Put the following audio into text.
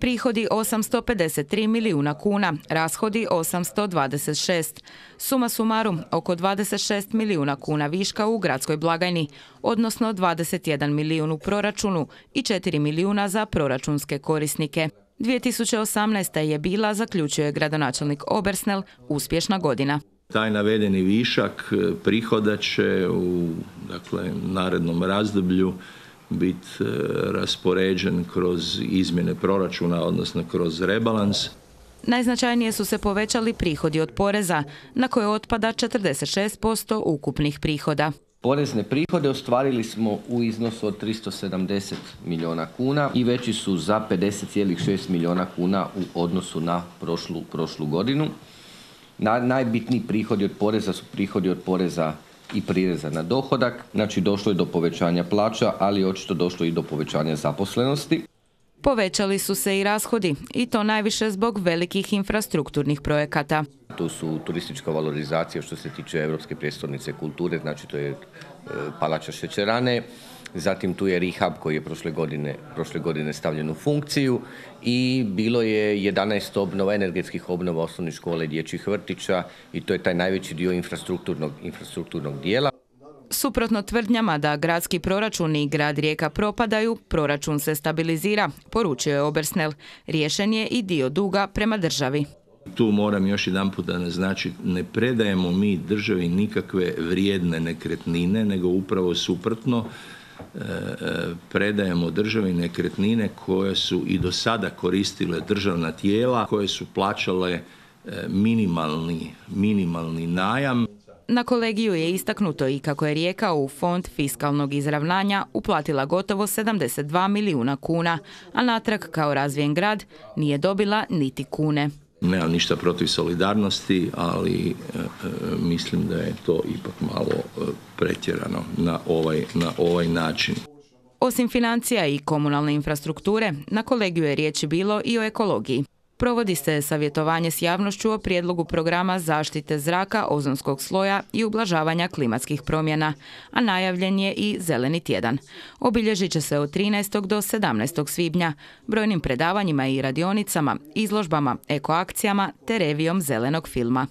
Prihodi 853 milijuna kuna, rashodi 826. Suma sumarum, oko 26 milijuna kuna viška u gradskoj blagajni, odnosno 21 milijun u proračunu i 4 milijuna za proračunske korisnike. 2018. je bila, zaključuje gradonačelnik Obersnel, uspješna godina. Taj navedeni višak prihoda će u narednom razdoblju biti raspoređen kroz izmjene proračuna, odnosno kroz rebalans. Najznačajnije su se povećali prihodi od poreza, na koje otpada 46% ukupnih prihoda. Porezne prihode ostvarili smo u iznosu od 370 milijuna kuna i veći su za 50,6 milijuna kuna u odnosu na prošlu godinu. Najbitniji prihodi od poreza su prihodi od poreza i prireza na dohodak, znači došlo je do povećanja plaća, ali očito došlo i do povećanja zaposlenosti. Povećali su se i rashodi, i to najviše zbog velikih infrastrukturnih projekata. Tu su turistička valorizacija što se tiče Europske prijestolnice kulture, znači to je Palača šećerane, zatim tu je rehab koji je prošle godine stavljen u funkciju i bilo je 11 energetskih obnova osnovnih škola i dječjih vrtića i to je taj najveći dio infrastrukturnog dijela. Suprotno tvrdnjama da gradski proračun i grad Rijeka propadaju, proračun se stabilizira, poručio je Obersnel. Riješen je i dio duga prema državi. Tu moram još jedanput da naznačiti, ne predajemo mi državi nikakve vrijedne nekretnine, nego upravo suprotno, predajemo državi nekretnine koje su i do sada koristile državna tijela, koje su plaćale minimalni najam. Na kolegiju je istaknuto i kako je Rijeka u fond fiskalnog izravnanja uplatila gotovo 72 milijuna kuna, a natrag kao razvijen grad nije dobila niti kune. Nemam ništa protiv solidarnosti, ali mislim da je to ipak malo pretjerano na ovaj način. Osim financija i komunalne infrastrukture, na kolegiju je riječi bilo i o ekologiji. Provodi se savjetovanje s javnošću o prijedlogu programa zaštite zraka, ozonskog sloja i ublažavanja klimatskih promjena, a najavljen je i Zeleni tjedan. Obilježit će se od 13. do 17. svibnja brojnim predavanjima i radionicama, izložbama, ekoakcijama te revijom zelenog filma.